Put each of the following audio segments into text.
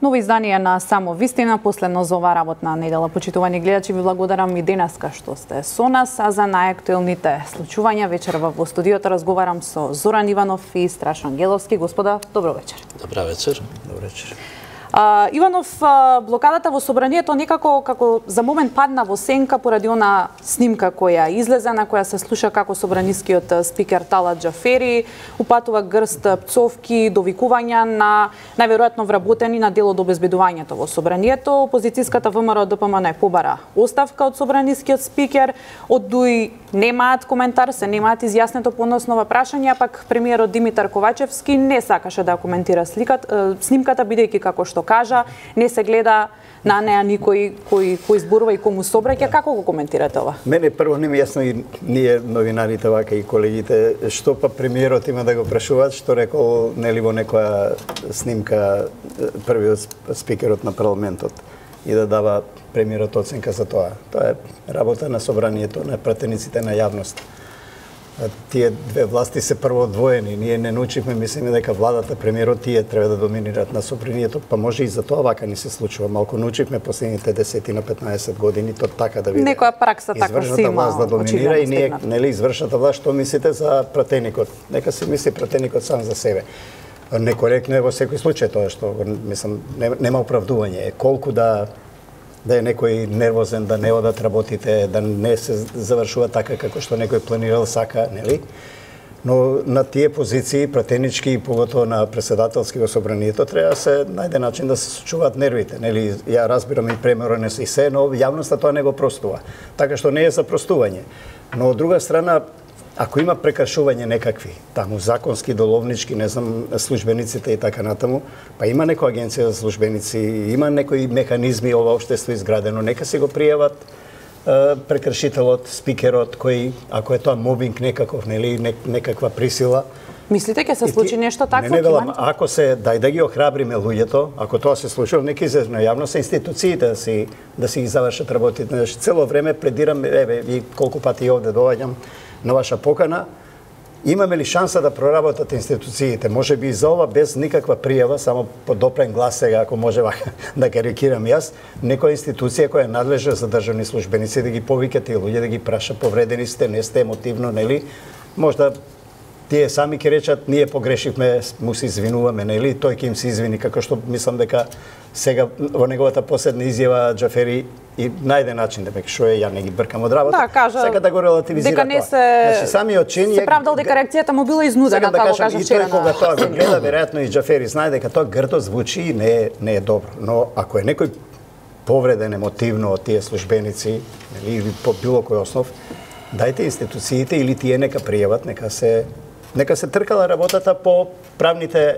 Ново издание на Само вистина, последно за ова работна недела. Почитувани гледачи, ви благодарам и денеска што сте со нас, а за најактуелните случувања вечерва во студиото разговарам со Зоран Иванов и Страшо Ангеловски. Господа, добро вечер. Добра вечер. Добро вечер. Иванов, блокадата во собранието некако како за момент падна во сенка поради она снимка која излезе, на која се слуша како собранискиот спикер Талат Џафери упатува грст пцовки, довикувања на најверојатно вработени на дел од обезбедувањето во собранието. Опозицијската ВМРО ДПМН побара оставка од собранискиот спикер, од ДУИ немаат коментар, се немаат изјаснето по однос на ова прашање, пак премиерот Димитар Ковачевски не сакаше да коментира снимката, бидејќи како што кажа, не се гледа на неа никој кој зборува и кому се обраќа. Како го коментирате ова? Мене прво не ми јасно и ние новинарите вака и колегите, што па премиерот има да го прашуваат, што рекол нели во некоја снимка првиот спикерот на парламентот и да дава премиерот оценка за тоа. Тоа е работа на собранието, на пратениците на јавност. Тие две власти се прво одвоени. Ние не научивме, мислиме дека владата, премиерот, тие треба да доминират на собранието, па може и за тоа вака ни се случува. Малку научивме последните 10 на 15 години то така да биде. Некоја пракса така си има. Власт да доминира и ние, нели, извршната власт, што мислите за пратеникот? Нека си мисли пратеникот сам за себе. Некоректно е во секој случај тоа што, мислам, нема оправдување. Колку да е некој нервозен, да не одат работите, да не се завршува така како што некој планирал, сака, нели? Но на тие позиции, пратенички и поготово на председателски во собранието, треба се најде начин да се сочуваат нервите, нели? Ја разбирам и премиерот и се, но јавноста тоа не го простува. Така што не е за простување. Но од друга страна, ако има прекршување некакви, таму законски, доловнички, не знам, службениците и така натаму, па има некоја агенција за службеници, има некои механизми ова општество изградено, нека се го пријават прекршителот, спикерот, кој, ако е тоа мобинг некаков, нели, некаква присила. Мислите ќе се случи нешто такво? Не велам, ако се, дај да ги охрабриме луѓето, ако тоа се случило, нека излезе на јавност, институциите да си ги завршат работите. Цело време пледирам, еве, и колку пати овде доаѓам на ваша покана, имаме ли шанса да проработат институциите? Може би и за ова без никаква пријава, само по допрен глас сега, ако може да карикирам јас, некоја институција која е надлежна за државни службеници да ги повика тие луѓе, да ги праша, повредени сте, не сте емотивно, нели? Можда тие сами ќе речат, ние погрешивме, му се извинуваме, нели? Тој ќе им се извини, како што мислам дека сега во неговата последна изјава Џафери и најде начин да што е, ја не ги бркам од работа. Да, кажа, сега да го релативизира дека не се, значи, самиот чин се правдал дека реакцијата му била изнудена, така го кажа вчера. И тој кога тоа го гледа, веројатно и Џафери знае дека тоа грдо звучи и не е добро. Но ако е некој повреден емотивно од тие службеници или по било кој основ, дајте институциите или тие нека пријават, нека се тркала работата по правните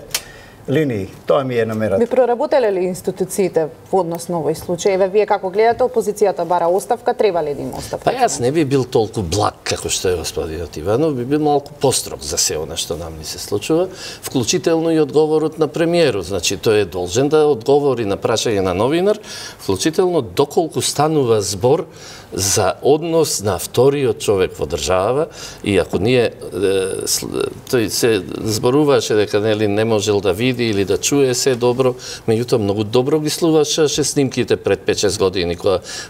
линии. Тоа ми е намерата. Ви проработеле ли институциите во однос на овој случај? Еве, вие како гледате, опозицијата бара оставка, треба ли да има оставка? Па јас не би бил толку благ како што е господинот Иванов, би бил малку построг за се она што нам ни се случува, вклучително и одговорот на премиерот. Значи, тој е должен да одговори на прашање на новинар, вклучително доколку станува збор за однос на вториот човек во држава, и ако ние тој се зборуваше дека нели не можел да види или да чуе се добро, меѓутоа многу добро ги слушаше снимките пред 5-6 години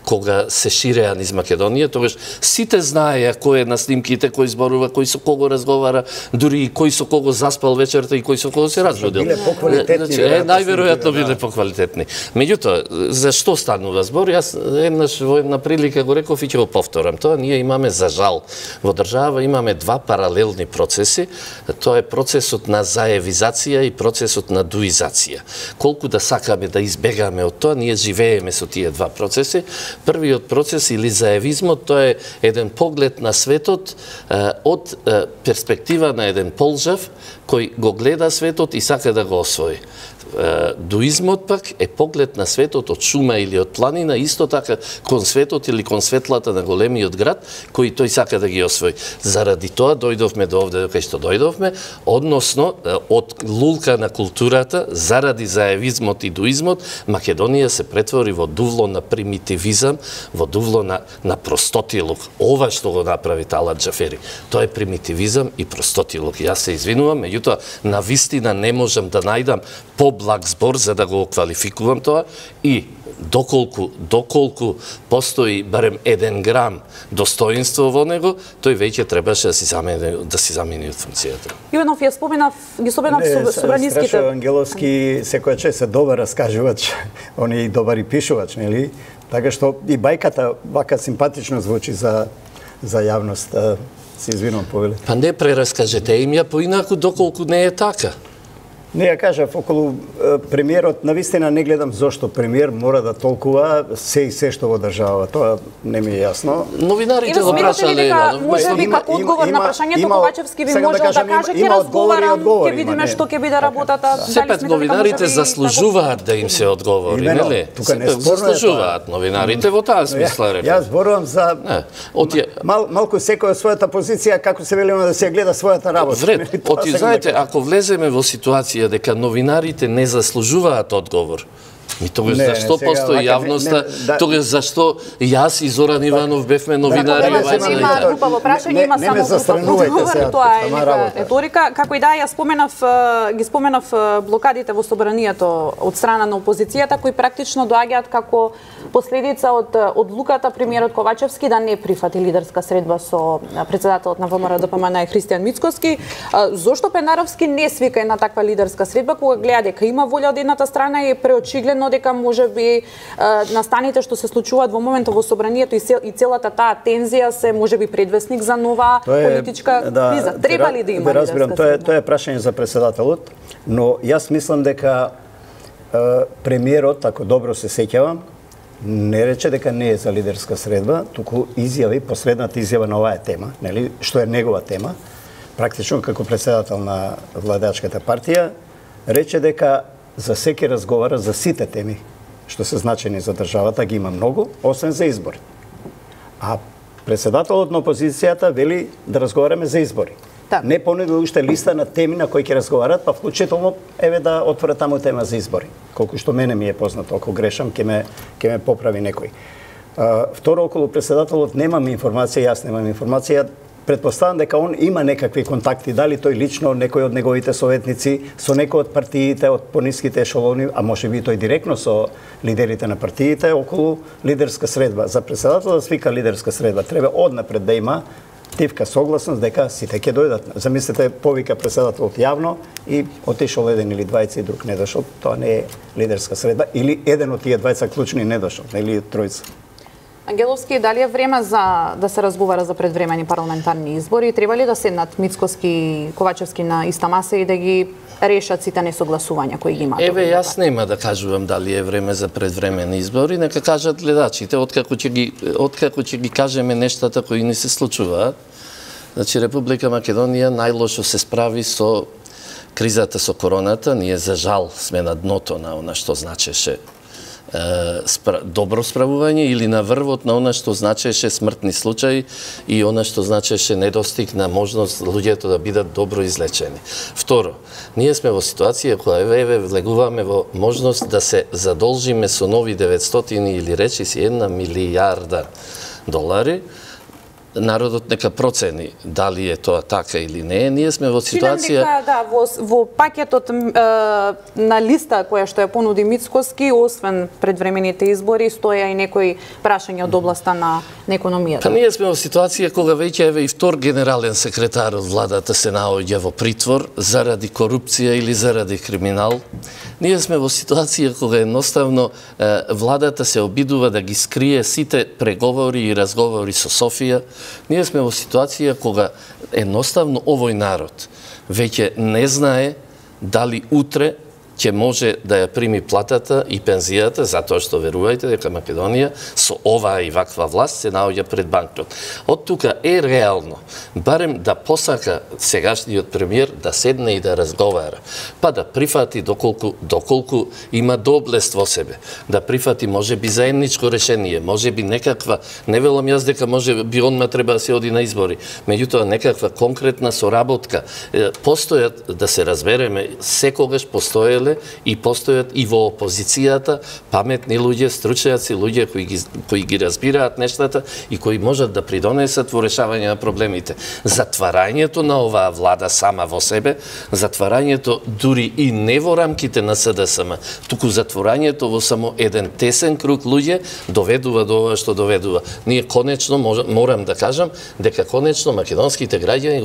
кога се ширеа низ Македонија, тогаш сите знаеа кој е на снимките, кој зборува, кој со кого разговара, дури и кој со кого заспал вечерта и кој со кого се разбудил. Биле поквалитетни. Најверојатно биле поквалитетни. Меѓутоа, за што станува збор? Јас еднаш во една прилика го реков и ќе го повторам. Тоа ние имаме, за жал, во држава имаме два паралелни процеси. Тоа е процесот на заевизација и процесот на дуизација. Колку да сакаме да избегаме од тоа, ние живееме со тие два процеси. Првиот процес или заевизмот, тоа е еден поглед на светот од перспектива на еден полжав кој го гледа светот и сака да го освои. Дуизмот пак е поглед на светот од шума или од планина, исто така кон светот или кон светлата на големиот град, кој тој сака да ги освои. Заради тоа дојдовме до овде кај што дојдовме, односно од лулка на културата, заради заевизмот и дуизмот, Македонија се претвори во дувло на примитивизам, во дувло на простотилук. Ова што го направи Талат Џафери, тоа е примитивизам и простотилук. Јас се извинувам, меѓутоа Меѓутоа, навистина не можам да најдам поблаг збор за да го квалификувам тоа и доколку постои барем 1 грам достоинство во него, тој веќе требаше да си замени од функцијата. Иванов, ги споменав собраниските. Страшо Ангеловски секоја чест се добар раскажувач, он е и добар и пишувач, нели? Така што и бајката вака симпатично звучи за јавност. Се извинувам, повеле. Па не прераскажете им ја поинаку доколку не е така. Не, ја кажав, околу премиерот, навистина не гледам зошто премиер мора да толкува се и се што во држава. Тоа не ми е јасно. Новинарите го прашале, може би како одговор на прашањето Ковачевски би можел да каже ќе разговарам, ќе видиме што ќе биде работата. Сепак новинарите заслужуваат да им се одговори, нели? Сепак заслужуваат новинарите во таа смисла реков. Јас зборувам за малку секој својата позиција, како се велиме да се гледа својата работа. Вред, знаете, ако влеземе во ситуација дека новинарите не заслужуваат одговор, тогаш зашто постои јавноста, тогаш зашто јас и Зоран Иванов бевме новинари? Нема глупаво прашање, има само одговор, тоа е нека реторика. Како и да, ја ги споменав блокадите во собранието од страна на опозицијата, кои практично доаѓаат како последица од одлуката премиерот Ковачевски да не прифати лидерска средба со претседателот на ВМРО-ДПМН Христијан Мицкоски. Зошто Пенаровски не свика една таква лидерска средба кога гледа дека има волја од едната страна и е преочигледно дека можеби настаните што се случуваат во моментот во собранието и целата таа тензија се можеби предвесник за нова политичка криза. Треба ли да има лидерска средба? Тоа е прашање за претседателот, но јас мислам дека премиерот, ако добро се сеќавам, не рече дека не е за лидерска средба, туку изјави, последната изјава на оваа тема, нели, што е негова тема, практично како претседател на владеачката партија, рече дека за секи разговара за сите теми што се значени за државата, ги има многу, освен за избори. А претседателот на опозицијата вели да разговараме за избори. Не понуди уште листа на теми на кои ќе разговарат, па вклучително еве да отворат таму тема за избори. Колку што мене ми е познато, ако грешам, ќе ме поправи некој. Второ, околу претседателот немам информација, јас немам информација. Предпоставам дека он има некакви контакти, дали тој лично, некој од неговите советници, со некој од партиите, од пониските ешелони, а може би тој директно со лидерите на партиите, околу лидерска средба. За претседател да свика лидерска средба, треба однапред да има тивка согласност дека сите ќе дојдат. Замислете, повика претседателот јавно и отишол еден или двајца и друг не дошол. Тоа не е лидерска средба. Или еден од тие двајца клучни не дошол, или тројца. Ангеловски, дали е време за да се разговара за предвремени парламентарни избори? Треба ли да седнат Мицкоски и Ковачевски на иста маса и да ги решат сите несогласувања кои ги имаат? Еве, јас нема да кажувам дали е време за предвремени избори, нека кажат гледачите, откако ќе ги кажеме нештата кои не се случуваат. Значи, Република Македонија најлошо се справи со кризата со короната. Ние, за жал, сме на дното на она што значеше добро справување или на врвот на она што значеше смртни случаи и она што значеше недостиг на можност луѓето да бидат добро излечени. Второ, ние сме во ситуација која еве влегуваме во можност да се задолжиме со нови 900 или речи си 1 милијарда долари. Народот нека процени дали е тоа така или не. Ние сме во ситуација... во пакетот на листа која што ја понуди Мицкоски, освен предвремените избори, стоја и некои прашања од областа на економијата. Па ние сме во ситуација кога веќе еве и втор генерален секретар од владата се наоѓа во притвор заради корупција или заради криминал. Ние сме во ситуација кога едноставно владата се обидува да ги скрие сите преговори и разговори со Софија. Ние сме во ситуација кога едноставно овој народ веќе не знае дали утре ќе може да ја прими платата и пензијата, затоа што верувајте дека Македонија со оваа и ваква власт се наоѓа пред банкрот. Од тука е реално, барем да посака сегашниот премиер да седне и да разговара, па да прифати доколку има доблест во себе, да прифати можеби заедничко решение, можеби некаква, не велам јас дека можеби онма треба да се оди на избори, меѓутоа некаква конкретна соработка. Постојат, да се разбереме, секогаш постоеле поделе и постојат и во опозицијата паметни луѓе, стручњаци, луѓе кои ги разбираат нештата и кои можат да придонесат во решавање на проблемите. Затварањето на оваа влада сама во себе, затварањето дури и не во рамките на СДСМ, туку затворањето во само еден тесен круг луѓе доведува до ова што доведува. Ние конечно морам да кажам дека конечно македонските граѓани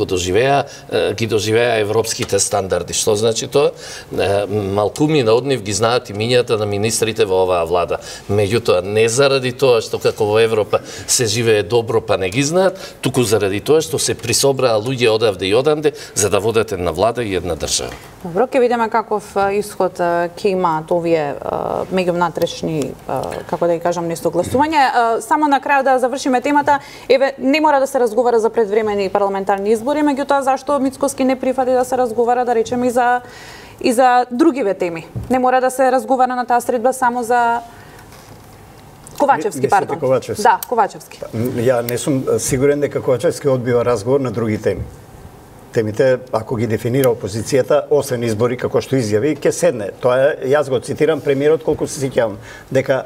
ги доживеа европските стандарди. Што значи тоа? Малкуми од нив ги знаат имињата на министрите во оваа влада. Меѓутоа, не заради тоа што како во Европа се живее добро па не ги знаат, туку заради тоа што се присобраа луѓе одавде и оданде за да водат една влада и една држава. Добро, ќе видиме каков исход ќе имаат овие меѓунатрешни, како да ги кажам, несогласувања. Само на крај да завршиме темата, не мора да се разговара за предвремени парламентарни избори, меѓутоа зашто Мицкоски не прифати да се разговара, да речеме, и за другиве теми. Не мора да се разговара на таа средба само за Ковачевски, пардон. Ковачевски? Да, Ковачевски. Ја не сум сигурен дека Ковачевски одбива разговор на други теми. Темите, ако ги дефинира опозицијата, освен избори, како што изјави, ќе седне. Тоа јас го цитирам премиерот колку се сеќавам, дека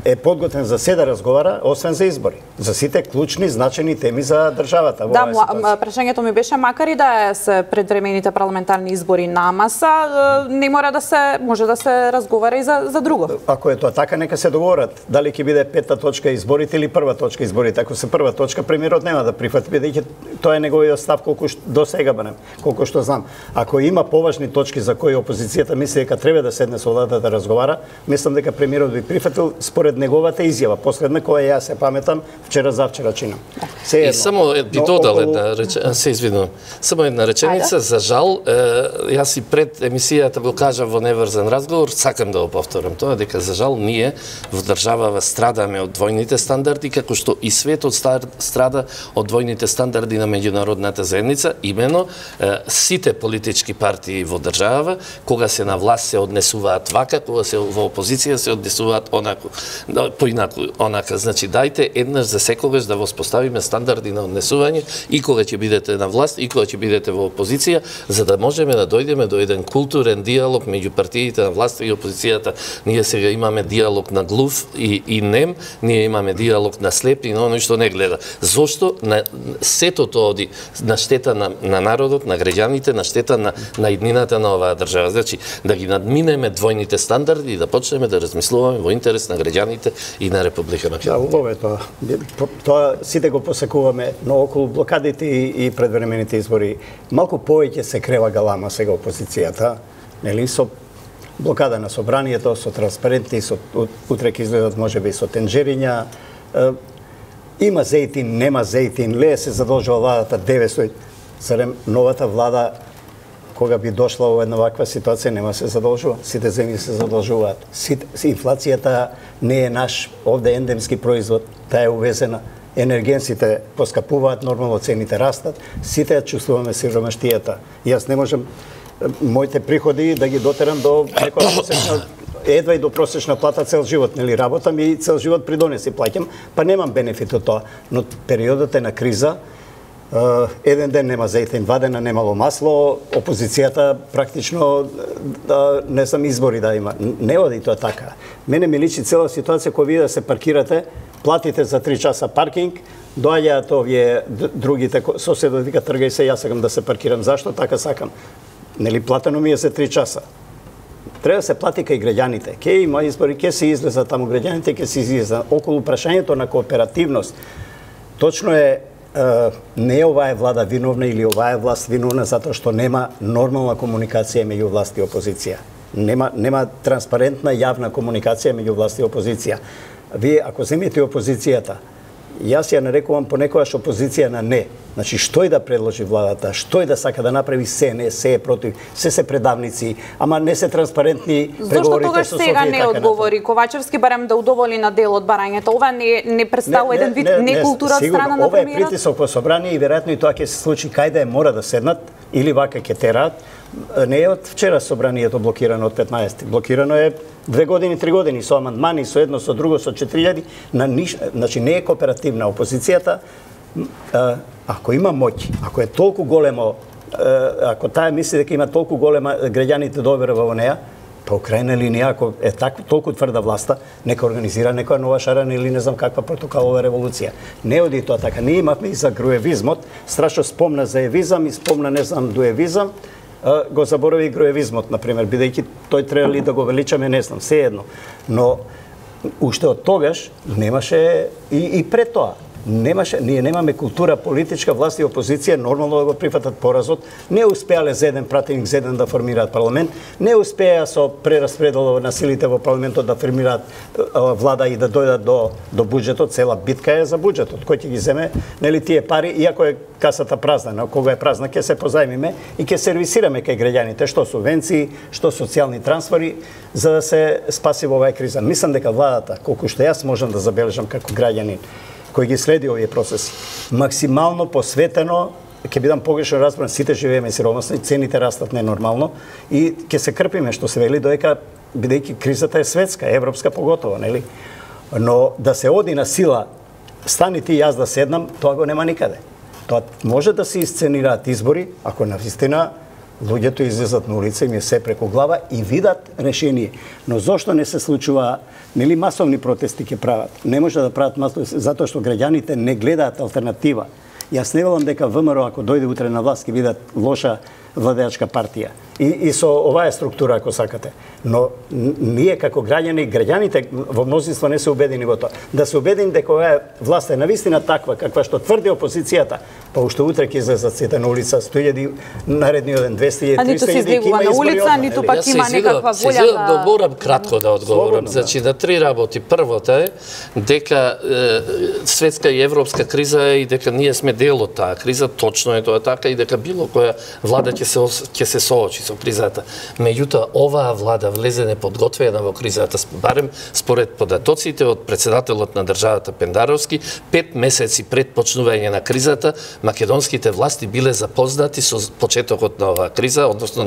е подготвен за се да разговара, освен за избори. За сите клучни, значени теми за државата. Да, прашањето ми беше, макар и да се предвремените парламентарни избори на маса, не мора да се, може да се разговара и за друго. Ако е тоа така, нека се договорат. Дали ќе биде петта точка изборите или прва точка изборите. Ако се прва точка, премиерот нема да прифати, бидејќи тоа е неговиот став колку до сега барем, колку што знам. Ако има поважни точки за кои опозицијата мисли дека треба да седне со владата да разговара, мислам дека премиерот би прифатил според неговата изјава, последна која јас се паметам вчера чинам. И само би додал една реченица, се извинувам. Само една реченица, за жал, јас и пред емисијата го кажав во неврзан разговор, сакам да го повторам тоа, дека за жал ние во државава страдаме од двојните стандарди, како што и светот страда од двојните стандарди на меѓународната заедница, имено сите политички партии во држава, кога се на власт се однесуваат вака, кога се во опозиција се однесуваат онаку. Поинаку, онака, значи дајте еднаш за секогаш да воспоставиме стандарди на однесување и кога ќе бидете на власт и кога ќе бидете во опозиција, за да можеме да дојдеме до еден културен диалог меѓу партиите на власт и опозицијата. Ние сега имаме диалог на глув и нем, ние имаме диалог на слеп и на оној што не гледа. Зошто сето тоа оди на штета на народот, на граѓаните, на штета на иднината на оваа држава. Значи, да ги надминеме двојните стандарди и да почнеме да размислуваме во интерес на граѓаните и на Република Македонија. Да, убаво е тоа. Тоа сите го посекуваме, но околу блокадите и предвремените избори малку повеќе се крева галама сега опозицијата, нели, со блокада на собранието, со транспаренти, со утре ќе изгледат можеби со тенџериња. Има зејтин, нема зејтин, лее се задолжува владата 900. Зарем новата влада кога би дошла во една ваква ситуација, нема се задолжува. Сите земји се задолжуваат. Инфлацијата не е наш овде ендемски производ, таа е увезена. Енергенците поскапуваат, нормално цените растат, сите ја чувствуваме сиромаштијата. Јас не можам моите приходи да ги дотерам до некоја просечна, едва и до просечна плата цел живот, нели, работам и цел живот придонеси плаќам, па немам бенефит од тоа. Но периодот е на криза, еден ден нема зејтин, 2 дена немало масло, опозицијата практично не знам избори да има. Не оди тоа така. Мене ми личи цела ситуација која вие да се паркирате, платите за 3 часа паркинг, доаѓаат овие другите соседот вика тргај се, јас сакам да се паркирам. Зашто така сакам? Нели платено ми е за 3 часа. Треба да се плати кај граѓаните. Ке има избори, ке се излезат таму граѓаните, ке се излезат околу прашањето на кооперативност. Точно е, не е оваа влада виновна или оваа власт виновна затоа што нема нормална комуникација меѓу власт и опозиција. Нема транспарентна јавна комуникација меѓу власт и опозиција. Вие ако земете опозицијата, јас ја нарекувам понекогаш опозиција на не. Значи, што и да предложи владата, што и да сака да направи се, не, се е против, се предавници, ама не се транспарентни преговорите со Софија. Зошто тогаш сега не одговори Ковачевски, барем да удоволи на дел од барањето? Ова не представува еден вид некултура од страна на премиерот? Ова е притисок во собрание и веројатно и тоа ќе се случи кај да мора да седнат или вака ќе тераат. Не е од вчера собранието блокирано од 15. Блокирано е 2 години, 3 години со амандмани, со едно, со друго, со 4000. Значи не е кооперативна опозицијата. Ако има моќ, ако е толку големо, ако таа мисли дека има толку голема граѓаните доверба во неа, Па Украина или ако е толку тврда власта, нека организира некоја нова шарана или не знам каква протоколова револуција. Не оди тоа така. Ние имавме и за груевизмот, страшно спомна за евизам и спомна не знам дуевизам, го заборави груевизмот, например, бидејќи тој требали да го величаме, не знам, сеедно. Но уште од тогаш немаше и пред тоа. Ние немаме култура политичка, власт и опозиција нормално да го прифатат поразот. Не успеале за еден пратеник, за еден да формираат парламент. Не успеа со прераспредел на силите во парламентот да формираат влада и да дојдат до буџетот. Цела битка е за буџетот. Кој ќе ги земе, нели тие пари, иако е касата празна, но кога е празна ќе се позајмиме и ќе сервисираме кај граѓаните што субвенции, што социјални трансфери за да се спаси во оваа криза. Мислам дека владата, колку што јас можам да забележам како граѓанин кој ги следи овие процеси, максимално посветено, ќе бидам погрешно разбран, сите живееме сиромасно и цените растат ненормално и ќе се крпиме, што се вели, доека бидејќи кризата е светска, европска поготово, нели? Но да се оди на сила, стани ти јас да седнам, тоа го нема никаде. Тоа може да се исценираат избори, ако навистина луѓето излезат на улица, им е се преку глава и видат решение. Но зошто не се случува, нели масовни протести ќе прават? Не може да прават масовни, затоа што граѓаните не гледаат алтернатива. Јас не велам дека ВМРО ако дојде утре на власт ќе видат лоша владеачка партија. И со оваа структура, ако сакате. Но ние како граѓаните во мнозинство не се убедени во тоа. Да се убедени дека оваа власт е навистина таква, каква што тврди опозицијата, па уште утре ќе излезат сите на улица, 100.000, наредниот ден 200.000, 300.000, а ниту се излегува на улица, ниту пак има некаква волја да... да морам кратко да одговорам. Значи, на три работи. Првото е дека светска и европска криза е и дека ние сме дел од таа криза, точно е тоа така, и дека било која влада ќе се соочи со кризата. Меѓутоа, оваа влада влезе неподготвена во кризата, барем според податоците од председателот на државата Пендаровски, 5 месеци пред почнување на кризата, македонските власти биле запознати со почетокот на оваа криза, односно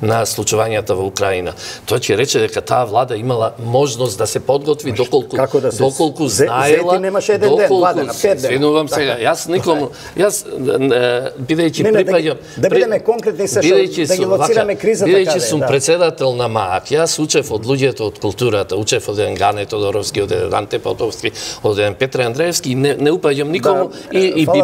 на случувањата во Украина. Тој ќе рече дека таа влада имала можност да се подготви доколку знаела, немаше еден ден, влада на 5 дена. Свинувам сега, јас никому, бидејќи припаѓам, да бидеме конкретни се што да ги лоцираме кризата каде. Бидејќи сум председател на МААК, јас учев од луѓето од културата, учев од еден Гане Тодоровски, од еден Анте Потовски, од еден Петре Андреевски, и не упаѓам никому и би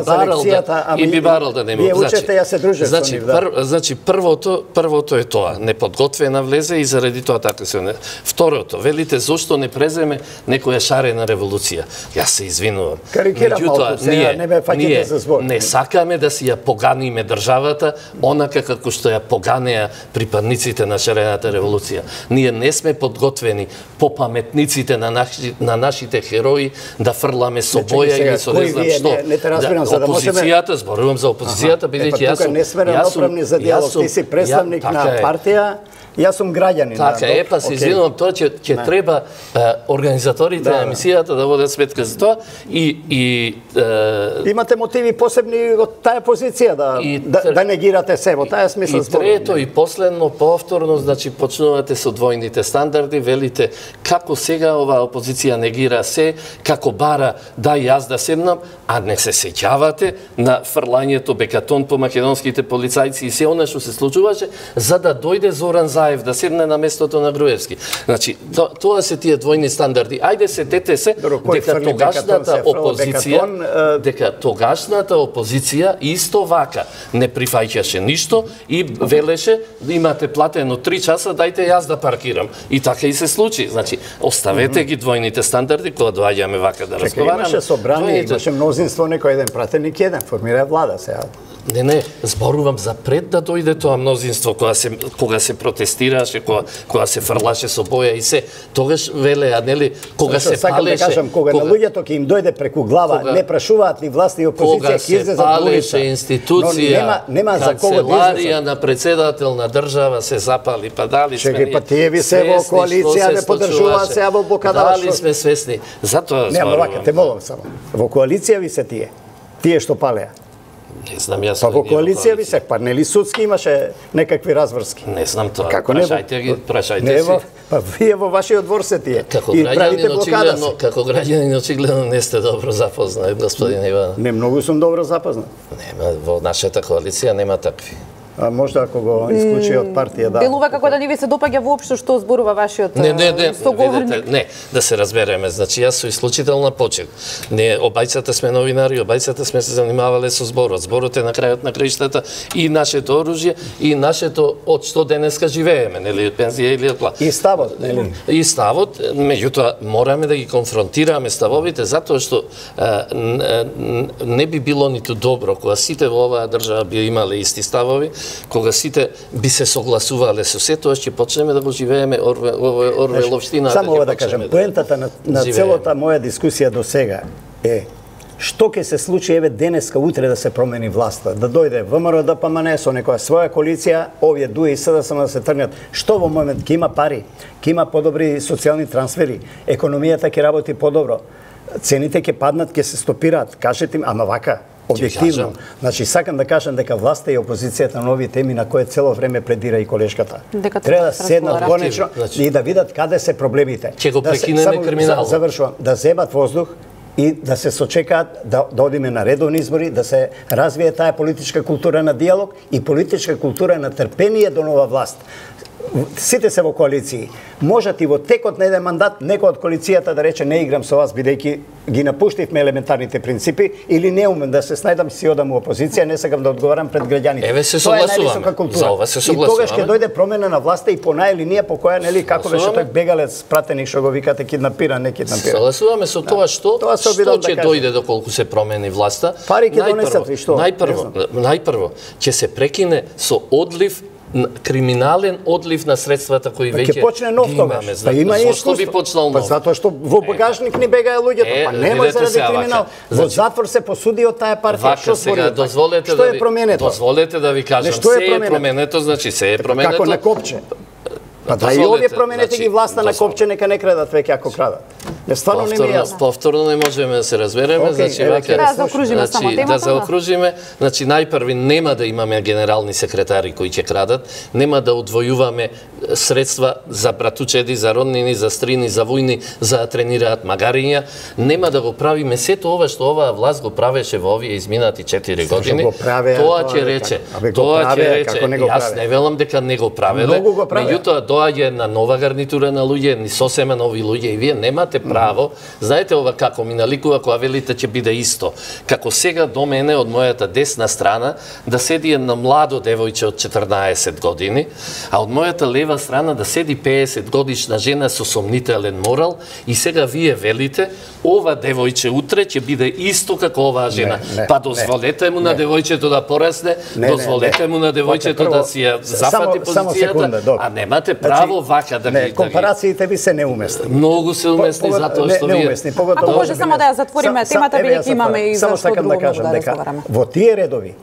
барал да не му. Вие учете, јас се дружев со нив, да. Значи, првото е тоа, неподготвена влезе и заради тоа така се. Второто, велите зошто не преземе некоја шарена револуција. Јас се извинувам. Карикирам малку, сега не ме фаќате за збор. Не сакаме да си ја поганиме државата, онака како што ја поганеа припадниците на шарената револуција. Ние не сме подготвени по паметниците на нашите херои да фрламе со боја или со не знам што. Опозицијата, зборувам за опозицијата, бидејќи јас сум... Не сме равноправни за диалог, ти си представник на партија, јас сум граѓанин. Така е, па се извинувам, тоа ќе треба организаторите на емисијата да водат сметка за тоа и имате мотиви посебни од таа позиција да негирате се во таа смисла. И трето и последно, повторно, значи почнувате со двојните стандарди, велите како сега оваа опозиција негира се, како бара да јас да седнам, а не се сеќавате на фрлањето бекатон по македонските полицајци и се она што се случуваше, за да дојде Зоран Заев да седне на местото на Груевски. Значи, тоа се тие двојни стандарди. Ајде сетете се дека тогашната опозиција исто вака не прифаќаше ништо и велеше имате платено 3 часа, дајте јас да паркирам. И така и се случи. Значи, оставете ги двојните стандарди кога доаѓаме вака да разговараме. Имаше собрание, имаше мнозинство, некој еден пратеник, еден формира влада сега. Не, зборувам за пред да дојде тоа мнозинство кога се протестираше, кога се фрлаше со боја и се. Тогаш велеа, нели, кога се палеше, да кажам, кога на луѓето ќе им дојде преку глава, не прашуваат ни власт и опозиција, ќе излезат на улица. Кога се палеше институција, канцеларија на председател на држава се запали, па дали сме па тие ви се во коалиција не поддржуваат се во блокада. Дали сме свесни. Затоа зборувам. Не, вака, те молам само. Во коалиција ви се тие што палеа. Не знам, јас... Па во коалиција ви се, па нели судски имаше некакви разврски? Не знам тоа. Како прашајте ги, прашајте си. Па вие во вашиот двор се тие. Како граѓанин очигледно не сте добро запознат, господин Иванов. Не, многу сум добро запознат. Нема, во нашата коалиција нема такви. Можда ако го исклучи од партија, да. Делува како да не ви се допаѓа воопшто што зборува вашиот соговорник. Не, да се разбереме. Значи јас со исклучителна почит. Не, обајцата сме новинари, обајцата сме се занимавале со зборот. Зборот е на крајот на краиштата и нашето оружје и нашето од што денеска живееме, нели, од пензија или од плата. И ставот, нели? И ставот, меѓутоа мораме да ги конфронтираме ставовите затоа што не би било ниту добро кога сите во оваа држава би имале исти ставови, кога сите би се согласувале со се, тоа ќе почнеме да го живееме Орвеловштина. Само ова да кажам, поентата на целата моја дискусија до сега е што ќе се случи еве денеска, утре да се промени власта, да дојде ВМРО ДПМН со некоја своја коалиција, овие ДУИ и СДСМ да се тргнат. Што во момент ќе има пари, ќе има подобри социјални трансфери, економијата ќе работи подобро, цените ќе паднат, ќе се стопираат. Кажете им, ама вака, објективно. Значи, сакам да кажам дека власта и опозицијата на овие теми на кои цело време предира и колешката. Треба да седнат конечно и да видат каде се проблемите. Ќе го прекинеме криминалот. Завршувам, да земат воздух и да се сочекаат да одиме на редовни избори, да се развие таа политичка култура на диалог и политичка култура на трпение до нова власт. Сите се во коалиции. Можат и во текот на еден мандат некој од коалицијата да рече не играм со вас бидејќи ги напуштивме елементарните принципи или не умем да се снајдам си одам во опозиција, не сакам да одговарам пред граѓаните. Еве се согласуваме. За ова се согласуваме. И тогаш ќе дојде промена на власта и по линија по која нели како беше тој бегалец пратеник што го викате киднапира, не киднапира. Согласуваме со тоа што ќе дојде доколку се промени власта. Пари ќе донесат и што? Најпрво ќе се прекине со одлив криминален одлив на средствата кои веќе ќе почне нов тогаш. Па има зашто би почнал нов? Па затоа што во багажник ни бегаа луѓето, па немој заради криминал. Во затвор се посуди од таа партија. Што сега дозволете да ви променето? Дозволете да ви кажам, се е променето, значи се е променето. Како на копче. Па да и овие променете ги власта на копче, нека не крадат веќе ако крадат. Стварно не ми е јасно. Повторно не можеме да се разбереме, значи да заокружиме само темата. Да заокружиме, значи најпрви нема да имаме генерални секретари кои ќе крадат, нема да одвојуваме средства за братучеди, за роднини, за стрини, за војни, за да тренираат магариња, нема да го правиме сето ова што оваа власт го правеше во овие изминати 4 години. Тоа ќе рече, јас не велам дека не го правеле, меѓутоа доаѓа една нова гарнитура на луѓе, ни сосема нови луѓе и вие немате право. Знаете ова како ми наликува кога велите ќе биде исто. Како сега до мене од мојата десна страна да седи една младо девојче од 14 години, а од мојата лева страна да седи 50 годишна жена со сомнителен морал и сега вие велите ова девојче утре ќе биде исто како оваа жена. Па дозволете му на девојчето да порасне, дозволете му на девојчето да си ја зафати позицијата, а немате право вака да ги... Компарациите ви се неуместни. Многу се уместни затоа што вие... Ако може само да ја затвориме темата, бидејќи имаме и за што друго да разговараме. Во тие редови,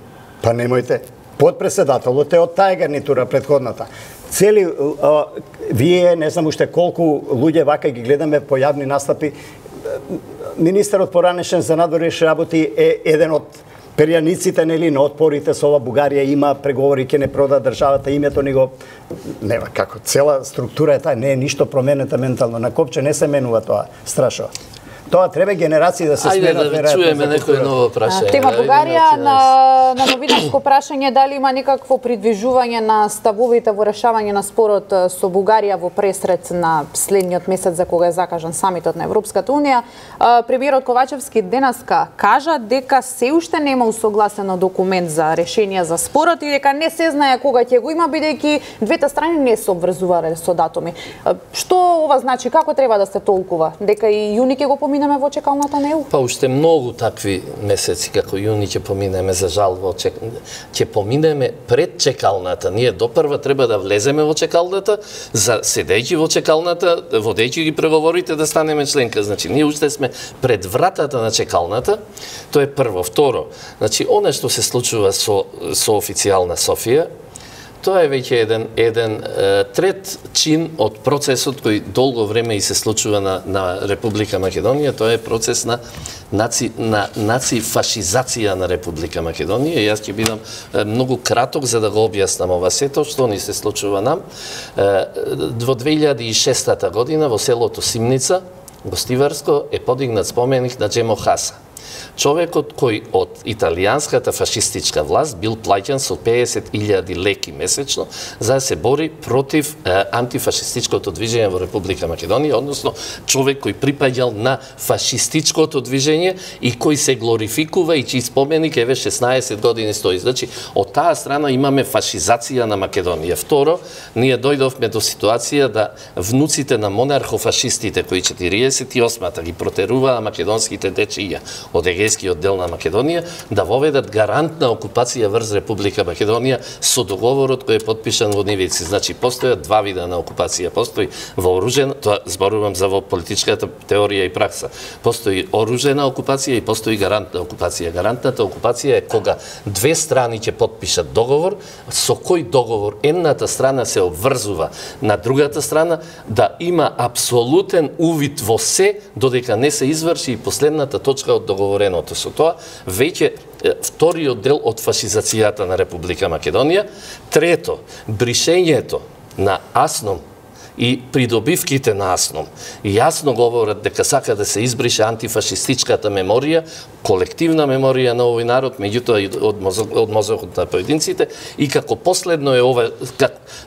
па немојте, подпредседателот е од таа гарнитура предходната. Цели, вие, не знам уште колку луѓе вака ги гледаме по јавни настапи, министерот поранешен за надворешни работи е еден од перјаниците нели на отпорите со ова Бугарија има преговори ќе не прода државата, името ни го нема како цела структура е таа, не е ништо променета ментално, на копче не се менува тоа, страшно. Тоа треба генерации да се сменат. Ајде да чуеме некој ново прашање. Тема Бугарија на новинарско прашање дали има некакво придвижување на ставовите во решавање на спорот со Бугарија во пресред на следниот месец за кога е закажан самитот на Европската унија. Премиерот Ковачевски денеска кажа дека се уште нема усогласено документ за решение за спорот и дека не се знае кога ќе го има бидејќи двете страни не се обврзувале со датуми. Што ова значи, како треба да се толкува? Дека и јуни ќе го поминеме во чекалната на ЕУ? Па уште многу такви месеци како јуни ќе поминеме, за жал, ќе поминеме пред чекалната. Ние допрва треба да влеземе во чекалната, за седејќи во чекалната, водејќи ги преговорите да станеме членка. Значи, ние уште сме пред вратата на чекалната. Тоа е прво. Второ, значи, она што се случува со официјална Софија, тоа е веќе еден трет чин од процесот кој долго време и се случува на Република Македонија. Тоа е процес на нацифашизација на Република Македонија. Јас ќе бидам многу краток за да го објаснам ова сето што ни се случува нам. Во 2006 година во селото Симница, Гостиварско, е подигнат споменик на Джемо Хаса. Човекот кој од италијанската фашистичка власт бил плаќан со 50.000 леки месечно за да се бори против антифашистичкото движење во Република Македонија, односно човек кој припаѓал на фашистичкото движење и кој се глорификува и чиј споменик еве 16 години стои. Значи, од таа страна имаме фашизација на Македонија. Второ, ние дојдовме до ситуација да внуците на монархофашистите кои 48-та ги протеруваа македонските дечиња од егејскиот дел на Македонија, да воведат гарантна окупација врз Република Македонија со договорот кој е подпишан во Нивици. Значи, постојат два вида на окупација. Постои вооружена, тоа зборувам за во политичката теорија и пракса. Постои оружена окупација и постои гарантна окупација. Гарантната окупација е кога две страни ќе подпишат договор, со кој договор едната страна се обврзува на другата страна да има апсолутен увид во се додека не се изврши и последната точка од договореното. Со тоа веќе вториот дел од фашизацијата на Република Македонија. Трето, бришењето на АСНОМ и придобивките на АСНОМ јасно говорат дека сака да се избрише антифашистичката меморија, колективна меморија на овој народ, меѓутоа и од мозокот на поединците, и како последно е ова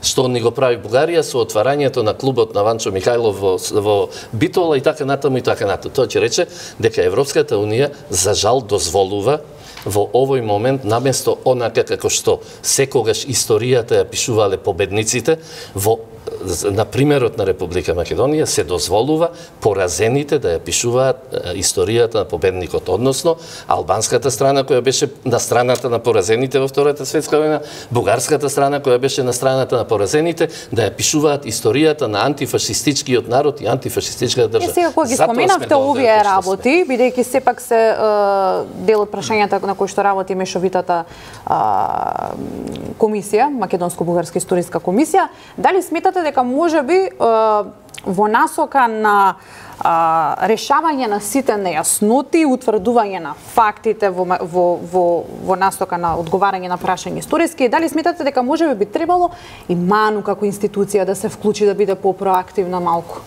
што ни го прави Бугарија со отварањето на клубот на Ванчо Михајлов во Битола и така натаму и така натаму. Тоа ќе рече дека Европската унија за жал дозволува во овој момент, наместо онака како што секогаш историјата ја пишувале победниците, на примерот на Република Македонија се дозволува поразените да ја пишуваат историјата на победникот, односно албанската страна која беше на страната на поразените во Втората светска војна, бугарската страна која беше на страната на поразените, да ја пишуваат историјата на антифашистичкиот народ и антифашистичката држава. Сега кога ги споменавте овие работи, бидејќи сепак се дел од прашањата на кои што работи мешовитата комисија, Македонско-бугарска историска комисија, дали сметате дека можеби во насока на решавање на сите нејасноти, утврдување на фактите во насока на одговарање на прашања историски, дали сметате дека можеби би требало и МАНУ како институција да се вклучи, да биде попроактивна малку?